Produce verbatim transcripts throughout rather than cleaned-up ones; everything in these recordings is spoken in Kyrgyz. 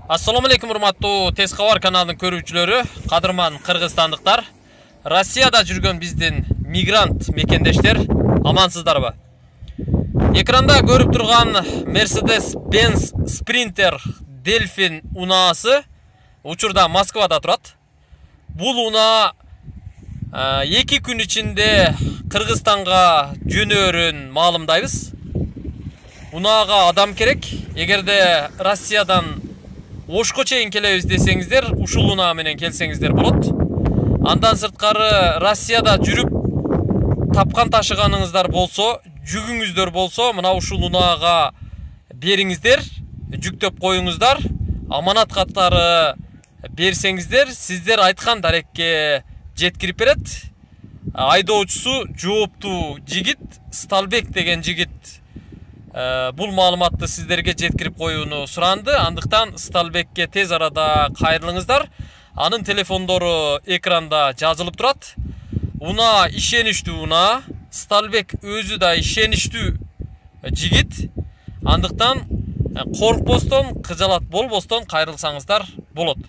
Assalamu alaikum урматтуу Тез кабар каналынын көрүүчүлөрү, кадырман кыргызстандыктар. Россияда жүргөн биздин мигрант мекендештер амансыздарбы? Экранда көрүп турган Mercedes-Benz Sprinter Delfin унаасы учурда Москвада турат. Бул унаа эки күн ичинде Кыргызстанга жөнөөрүн маалымдайбыз. Унаага адам керек. Эгерде Россиядан Ошко чейин келебиз десеңиздер, ушул унаа менен келсеңиздер болот. Андан сырткары Россияда жүрүп тапкан ташыганыңыздар болсо, жүгүңүздөр болсо, мына ушул унаага бериңиздер, жүктөп коюңуздар. Аманат каттары берсеңиздер, сиздер айткан дарекке жеткирип берет. Айдоочусу жооптуу жигит, Сталбек деген жигит бул маалыматты сиздерге жеткирип коюуну суранды. Андыктан Сталбекке тез арада кайрылыңыздар. Анын телефондору экранда жазылып турат. Унаа ишеничтүү унаа, Сталбек өзү да ишеничтүү жигит. Андыктан коркпостон, кыжалат болбостон кайрылсаңыздар болот.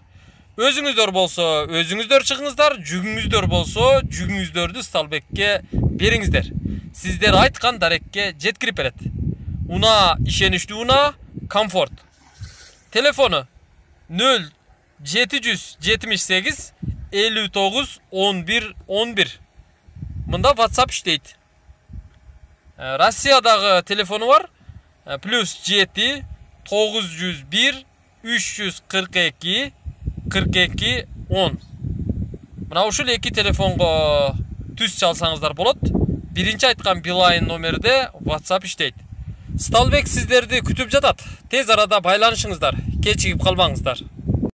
Өзүңүздөр болсо, өзүңүздөр чыгыңыздар, жүгүңүздөр болсо, жүгүңүздөрдү Сталбекке бериңиздер. Сиздер айткан дарекке жеткирип берет. Унаа ишеничтүү унаа, комфорт. Телефону нөл жети жүз жетимиш сегиз элүү тогуз он бир он бир. Мында WhatsApp иштейт. Россиядагы телефону бар. плюс жети тогуз жүз бир үч жүз кырк эки кырк эки он. Мына ушул эки телефонго түз чалсаңыздар болот. Биринчи айткан Билайн номерде WhatsApp иштейт. Сталбек сиздерди күтүп жатат. Тез арада байланышыңыздар. Кечигип калбаңыздар.